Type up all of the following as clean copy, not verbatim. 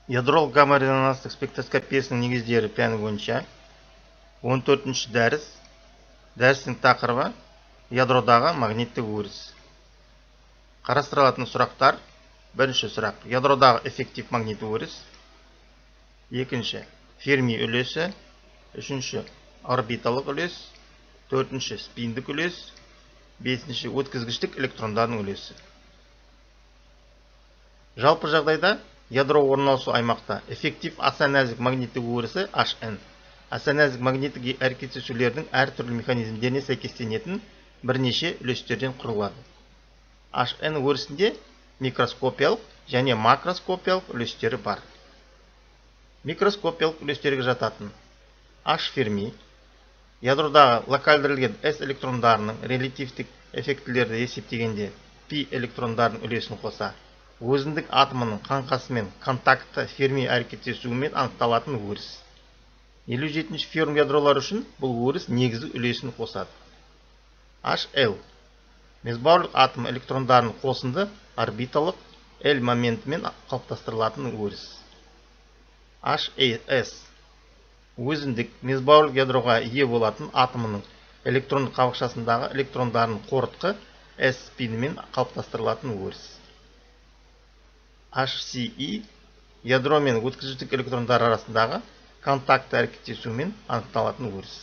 Ядролық гамма-резонанстық спектроскопиясының негіздері пәні бойынша 14-ші дәріс. Дәрістің тақырыбы ядродағы магниттік өріс. Қарастырылатын сұрақтар: бірінші сұрақ: ядродағы эффектив магниттік өріс. Екінші: Ферми үлесі. Үшінші: орбиталық үлес. Төртінші: спиндік үлес. Бесінші: өткізгіштік электрондардың үлесі. Жалпы жағдайда ядро орналасу аймақта эффектив аса нәзік магниттік өрісі Hn аса нәзік магниттік әрекеттесулердің әртүрлі механизмдеріне сәйкестенетін бірнеше үлестерден құрылады. Hn өрісінде микроскопиялық және макроскопиялық үлестері бар. Микроскопиялық үлестерге жататын H ферми, ядродағы локалдырылген S электрондарының релятивтік эффектілерді есептегенде π электрондарының үлесін қоса, өзіндік атомының қаңқасымен контакты ферми әрекеттесуімен анықталатын өріс. 57-ші ферм ядролар үшін бұл өріс негізгі үлесін қосады. HL месбауырлық атом электрондарының қосынды орбиталық L моментімен қалыптастырылатын өріс. HAS өзіндік месбауырлық ядроға ие болатын атомының электрондық қабықшасындағы электрондардың қорытқы S спинімен қалыптастырылатын өріс. HCE ядро мен өткізгіштік электрондар арасындағы контакты әрекеттесуімен анықталатын өріс.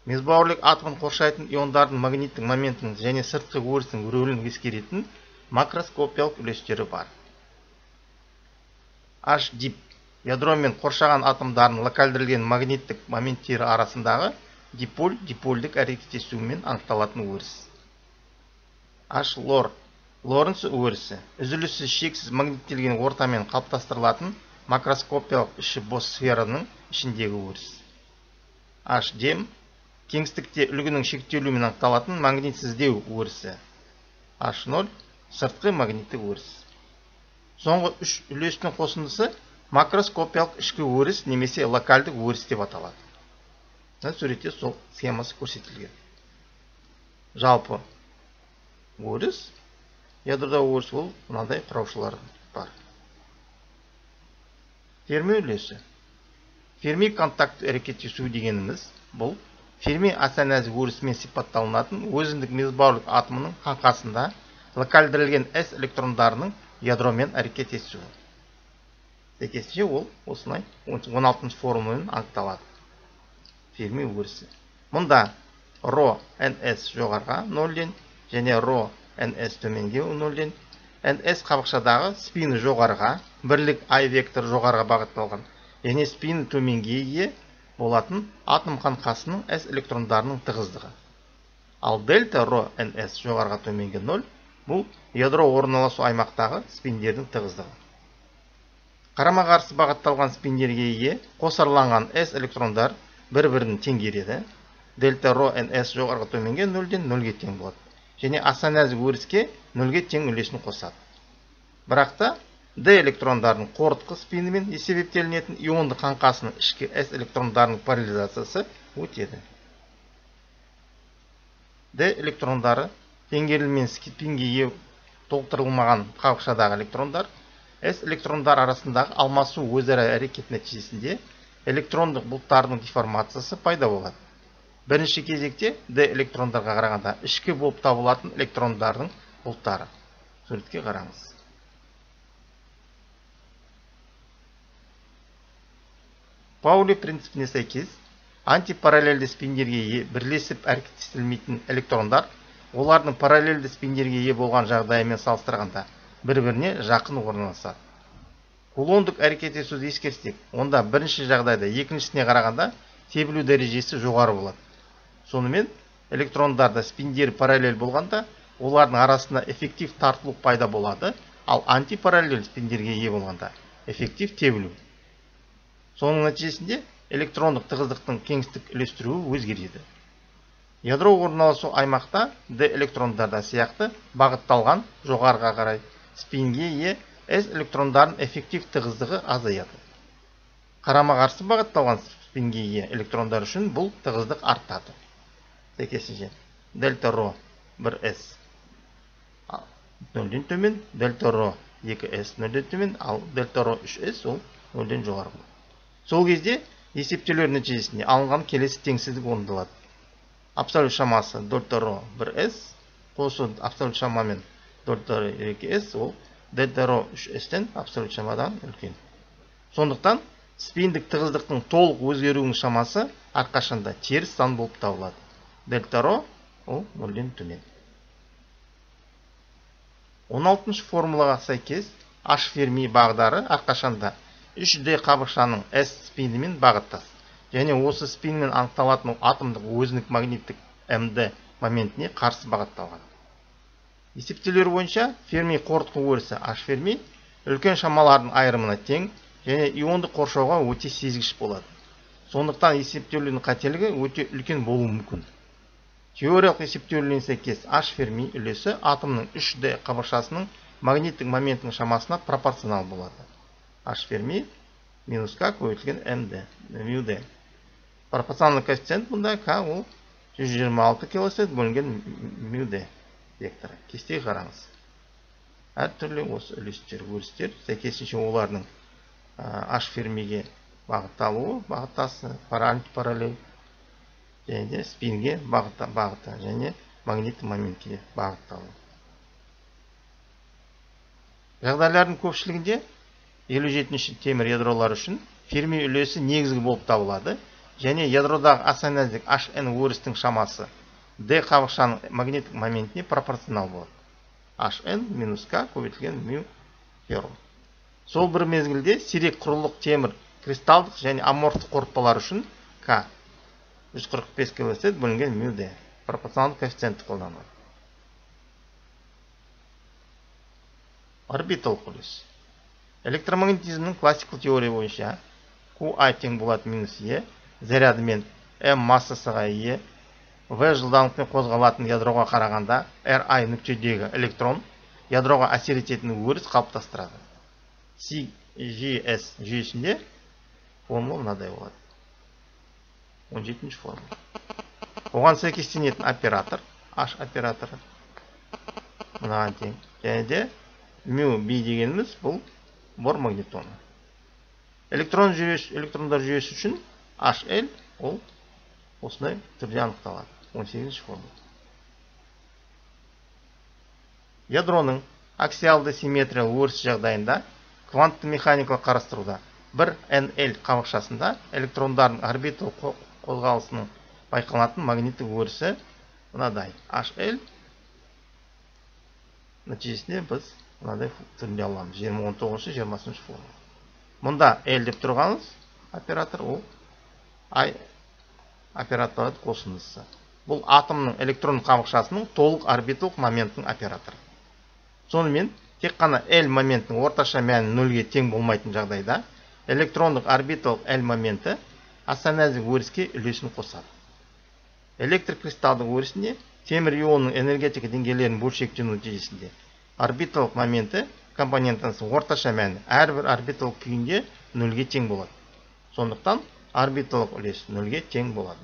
Месбауырлық атомын қоршайтын иондардың магниттік моментінің және сыртқы өрістің рөлін ескеретін макроскопиялық үлестері бар. H-дип ядро мен қоршаған атомдардың локалдырылген магниттік моменттері арасындағы диполь-дипольдік әрекеттесуімен анықталатын өріс. H-лор Лоренц өрісі үзіліссіз шексіз магниттелген ортамен қалыптастырылатын макроскопиялық іші бос сфераның ішіндегі өріс. H-дем кеңістікте үлгінің шектелуімен анықталатын магнитсіздеу өрісі. H0 сыртқы магниттік өріс. Соңғы үш үлестің қосындысы макроскопиялық ішкі өріс немесе локальдық өріс деп аталады. Суретте сол схемасы көрсетілген. Жалпы өріс ядрода өріс ол мынадай құраушылар бар. Ферми үлесі. Ферми контакт әрекеттесу дегеніміз бұл ферми аса нәзік өрісімен сипатталынатын өзіндік месбауырлық атомының қаңқасында локалдырылген S электрондарының ядромен әрекеттесуі. Сәйкесінше ол осылай 16-шы формулямен анықталады. Ферми өрісі. Мұнда ρ ns жоғарға 0-ден және ρ ns төменге 0-ден, ns қабықшадағы спині жоғарға, бірлік I вектор жоғарға бағытталған, және спині төменге ие болатын атом қаңқасының S электрондарының тығыздығы. Ал дельта ρ ns жоғарға төменге 0 бұл ядро орналасу аймақтағы спиндердің тығыздығы. Қарама-қарсы бағытталған спиндерге ие қосарланған S электрондар бір-бірін теңгереді. Дельта ρ ns жоғарға төменге 0-ден 0-ге тең болады. Және аса нәзік өріске 0-ге тең үлесін қосады. Бірақта D электрондардың қорытқы спинімен есептелінетін ионды қаңқасының ішкі S электрондарының параллелизациясы өтеді. D электрондары теңгерілмен спинге ие толықтырылмаған қабықшадағы электрондар, S электрондар арасындағы алмасу өзара әрекет нәтижесінде электрондық бұлттардың деформациясы пайда болады. Бірінші кезекте D электрондарға қарағанда ішкі болып табылатын электрондардың бұлттары. Суретке қараңыз. Паули принципіне сәйкес, антипараллельді спиндерге бірлесіп әрекеттестірілмейтін электрондар олардың параллельді спиндерге ие болған жағдайымен салыстырғанда бір-біріне жақын орналасады. Кулондық әрекеттесуді ескерсек, онда бірінші жағдайда екіншісіне қарағанда тебілу дәрежесі жоғары болады. Сонымен электрондарда спиндері параллель болғанда олардың арасында эффектив тартылу пайда болады, ал антипараллель спиндерге ие болғанда эффектив тебілу. Соның нәтижесінде электрондық тығыздықтың кеңістік үлестіруі өзгереді. Ядро орналасу аймақта D электрондарда сияқты бағытталған жоғарыға қарай спинге ие S электрондардың эффектив тығыздығы азаяды. Қарама-қарсы бағытталған спинге ие электрондар үшін бұл тығыздық артады. Сәйкесінше дельта ρ 1s 0-ден төмен, дельта ρ 2s нөлден төмен, ал дельта ро 3s ол нөлден жоғары болады. Сол кезде есептеулер нәтижесінде алынған келесі теңсіздік орындалады. Абсолют шамасы дельта ро 1s қосу абсолют шамамен дельта ро 2s ол дельта ро 3s-тен абсолют шамадан үлкен. Сондықтан спиндік тығыздықтың толық өзгеруінің шамасы әрқашанда теріс сан болып табылады. Дельта ро ол нөлден төмен. 16-шы формулаға сәйкес H Ферми бағдары әрқашанда 3D қабықшаның S спинімен бағыттас. Және осы спинмен анықталатын атомдық өзіндік магниттік МД моментіне қарсы бағытталған. Есептеулер бойынша Ферми қорытқы өрісі H Ферми үлкен шамалардың айырымына тең және ионды қоршауға өте сезгіш болады. Сондықтан есептеулердің қателігі өте үлкен болуы мүмкін. Теориялық есептеулеріне сәйкес H Ферми үлесі атомның 3D қабықшасының магниттік моменттің шамасына пропорционал болады. H Ферми минус К көбейтілген МД. Пропорционалды коэффициент бұнда К ол 126 килосет бөлінген μD векторы. Кестеге қараңыз. Әртүрлі осы үлестер, өрістер, сәйкесінше олардың H Фермиге бағытталуы, бағыттасы, антипараллель, және де спинге бағыты, және магнитті моментке бағытталуы. Жағдайлардың көпшілігінде 57-ші темір ядролар үшін Ферми үлесі негізгі болып табылады, және ядродағы аса нәзік HN өрістің шамасы D қабықшаның магниттік моментіне пропорционал болады. HN минус К көбейтілген μ феррум. Сол бір мезгілде сирек құрылық темір кристалдық және аморфты қорытпалар үшін К 145 килосет бөлінген μD пропорционалды коэффициентті қолданылады. Орбиталық үлес. Электромагнетизмнің классикалық теория бойынша QI тең болады минус Е, зарядымен М массасыға Е, В жылдамдықпен қозғалатын ядроға қарағанда RI нүктедегі электрон ядроға әсер ететін өріс қалыптастырады. CGS жүйесінде формула мынадай болады. 17-ші формула. Оған сәйкестенетін оператор H операторы мынаған тең. Және де μB дегеніміз бұл бор магнитоны. Электрондар жүйесі үшін HL ол осындай түрде анықталады. 18-ші формула. Ядроның аксиалды симметриялы өріс жағдайында квантты механикалық қарастыруда бір NL қабықшасында электрондардың орбитал қозғалысының байқалатын магниттік өрісі мынадай. HL нәтижесінде біз мынадай түрінде аламыз. 19-20 формула. Мұнда L деп тұрғаныз оператор ол I операторларды қосындысы. Бұл атомның электрон қабықшасының толық орбиталық моменттің операторы. Сонымен, тек қана L моментінің орташа мәні 0-ге тең болмайтын жағдайда, электрондық орбиталық L моменті аса нәзік өріске үлесін қосады. Электр кристалдық өрісінде темір ионның энергетика деңгейлерінің бөлшектену нәтижесінде орбиталық моменті компонентінің орташа мәні әрбір орбиталық күйінде 0-ге тең болады. Сондықтан орбиталық үлес 0-ге тең болады.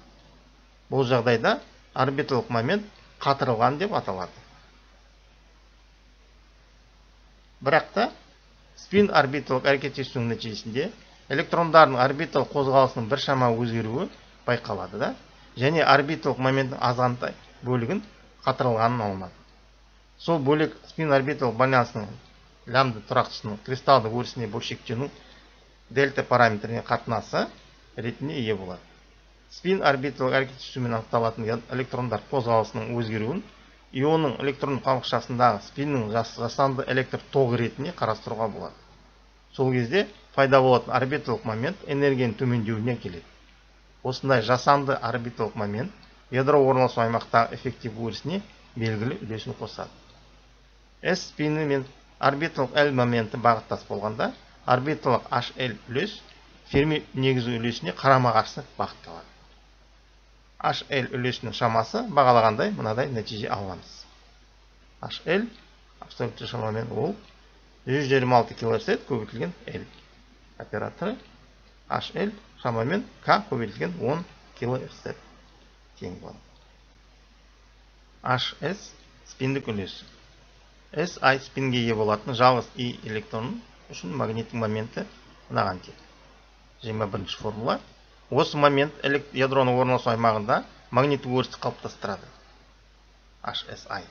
Бұл жағдайда орбиталық момент қатырылған деп аталады. Бірақ та спин орбиталық әрекеттесуінің нәтижесінде электрондардың орбиталық қозғалысының біршама өзгеруі байқалады да, және орбиталық моменттің азғантай бөлігін қатырылғанын алынады. Сол бөлек спин орбиталық байланысының лямбда тұрақтысының кристалдық өрісіне бөлшектену дельта параметріне қатынасы ретінде ие болады. Спин орбиталық әрекеттесуімен анықталатын электрондар қозғалысының өзгеруін ионның электрон қабықшасындағы спиннің жасанды электр тоғы ретінде қарастыруға болады. Сол кезде пайда болатын орбиталық момент энергияның төмендеуіне келеді. Осындай жасанды орбиталық момент ядро орналасу аймақтағы эффектив өрісіне белгілі үлесін қосады. S спині мен орбиталық L моменті бағыттас болғанда, орбиталық HL үлес Ферми негізгі үлесіне қарама-қарсы бағытталады. HL үлесінің шамасы бағалағандай мынадай нәтиже аламыз. HL абсолютті шамамен ол 126 килосет көбейтілген L операторы, HL шамамен К көбейтілген 10 килосет тең болады. HS спиндік үлесі. Si спинге ие болатын жалғыз I электронның үшін магниттік моменті мынаған тең. 21-ші формула. Осы момент ядроның орналасу аймағында магниттік өрісті қалыптастырады. HSI.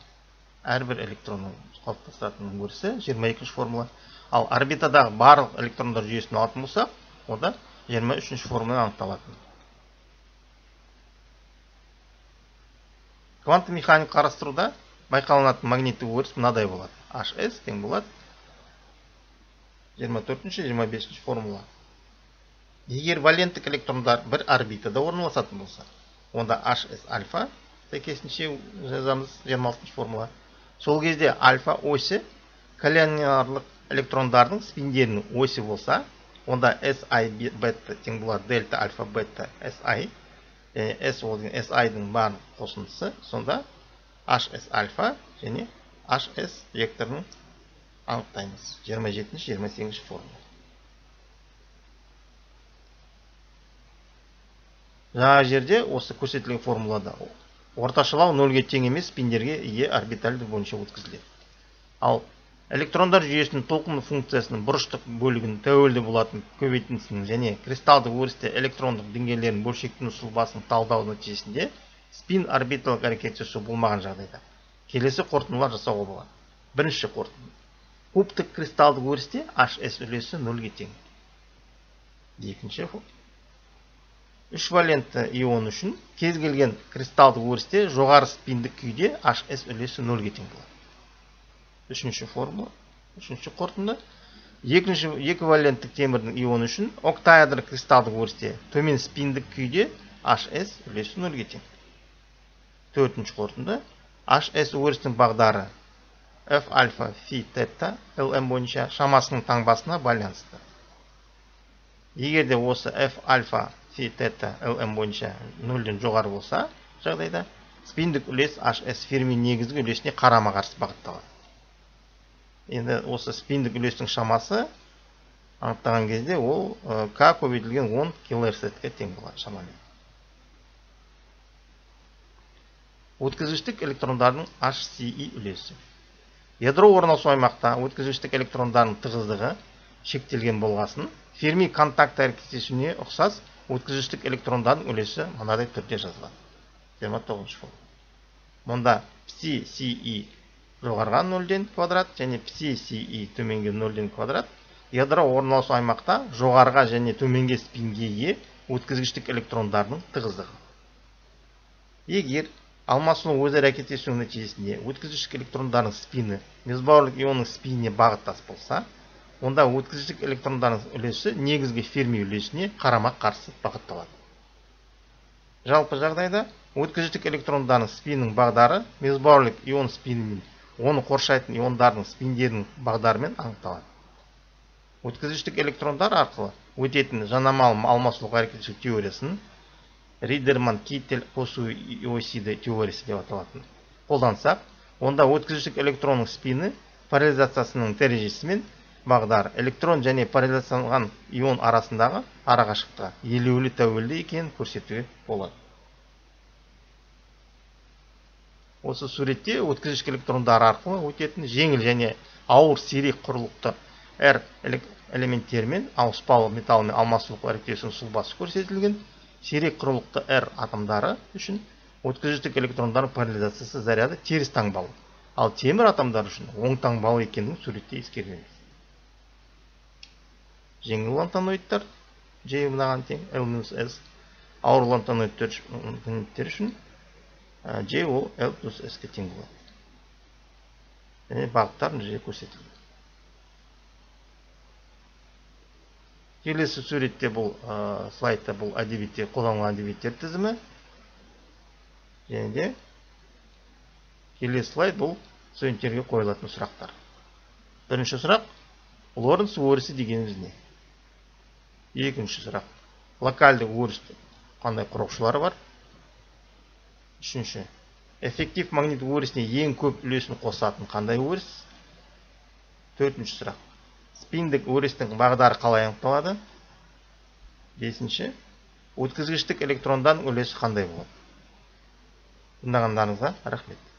Әрбір электронның қалыптастыратын өрісі 22-ші формула. Ал орбитадағы барлық электрондар жүйесін алатын болсақ, ода 23-ші формула анықталатын. Кванттық механик қарастыруда байқалынатын магниттік өріс мынадай болады. HS тең болады 24-ші, 25-ші формула. Егер валенттік электрондар бір орбитада орналасатын болса, онда HS альфа, сәйкесінше жазамыз 26-ші формула. Сол кезде альфа осі коллиниярлық электрондардың спиндерінің осі болса, онда SI бета тең болады дельта альфа бета SI. S ол деген SI-дің барлық қосындысы, сонда HS альфа және HS векторының анықтаймыз. 27-ші, 28-ші формула. Жаңа жерде осы көрсетілген формулада орташалау нөлге тең емес спиндерге ие орбитальді бойынша өткізіледі. Ал электрондар жүйесінің толқынды функциясының бұрыштық бөлігін тәуелді болатын көбейтіндісінің және кристалдық өрісте электрондық деңгейлерінің бөлшектену сұлбасын талдау нәтижесінде спин орбиталық әрекет жасау болмаған жағдайда келесі қорытындылар жасауға болады. Бірінші қорытынды. Кубтық кристалдық өрісте HS үлесі 0-ге тең. Екінші қорытынды. 3 валентті ион үшін кез келген кристалдық өрісте жоғары спиндік күйде HS үлесі 0-ге тең болады. Үшінші формула, үшінші қорытынды. Екі валенттік темірдің ионы үшін октаэдр кристалдық өрісте төмен спиндік күйде HS үлесі 0-ге тең. Төртінші қорытынды. HS өрісінің бағдары F альфа фи тета LM бойынша шамасының таңбасына байланысты. Егерде осы F альфа фи тета LM бойынша 0-ден жоғары болса, жағдайда спиндік үлес HS ферми негізгі үлесіне қарама-қарсы бағытталады. Енді осы спиндік үлестің шамасы анықтаған кезде ол К көбейтілген 10 килоэрцетке тең болады шамамен. Өткізгіштік электрондардың HCI үлесі. Ядро орналасу аймақта өткізгіштік электрондардың тығыздығы шектелген болғасын, ферми контакт әрекеттесуіне ұқсас өткізгіштік электрондардың үлесі мынадай түрде жазылады. 29-ші формула. Мұнда psi жоғарғы 0-ден квадрат және psi төменге 0-ден квадрат ядро орналасу аймақта жоғарғы және төменге спинге ие өткізгіштік электрондардың тығыздығы. Егер алмасудың өзара әрекеттесуінің нәтижесінде өткізгіштік электрондардың спині месбауырлық ионның спиніне бағыттас болса, онда өткізгіштік электрондардың үлесі негізгі ферми үлесіне қарама-қарсы бағытталады. Жалпы жағдайда өткізгіштік электрондардың спинінің бағдары месбауырлық ион спинімен оны қоршайтын иондардың спиндерінің бағдарымен анықталады. Өткізгіштік электрондар арқылы өтетін жанамалы алмасулық әрекетшілік теориясын Ридерман-Киттель қосу иосиді теориясы деп аталатын қолдансақ, онда өткізгіштік электронның спині поляризациясының дәрежесімен бағдар электрон және поляризацияланған ион арасындағы арақашықтығы елеулі тәуелді екенін көрсетуге болады. Осы суретте өткізгіштік электрондар арқылы өтетін жеңіл және ауыр сирек құрылықты R элементтермен ауыспалы металлмен алмасулық әрекеттесуінің сұлбасы көрсетілген. Сирек құрылықты R атомдары үшін өткізгіштік электрондардың поляризациясы заряды теріс таңбалы, ал темір атомдар үшін оң таңбалы екендігін суретте ескермеңіз. Жеңіл лантаноидтар J мынаған тең L-S, ауыр лантаноидтер үшін J ол L+S-ке тең болады. Және бағыттар мына жерде көрсетілген. Келесі суретте бұл слайдта бұл әдебиетте қолданылған әдебиеттер тізімі. Және де келесі слайд бұл студенттерге қойылатын сұрақтар. Бірінші сұрақ, Лоренц өрісі дегеніміз не? Екінші сұрақ, локальды өрістің қандай құрушылары бар? Үшінші, эффектив магнит өрісіне ең көп үлесін қосатын қандай өріс? Төртінші сұрақ, спиндік өрістің бағдары қалай анықталады? Бесінші, өткізгіштік электрондан үлесі қандай болады? Тыңдағандарыңызға рахмет.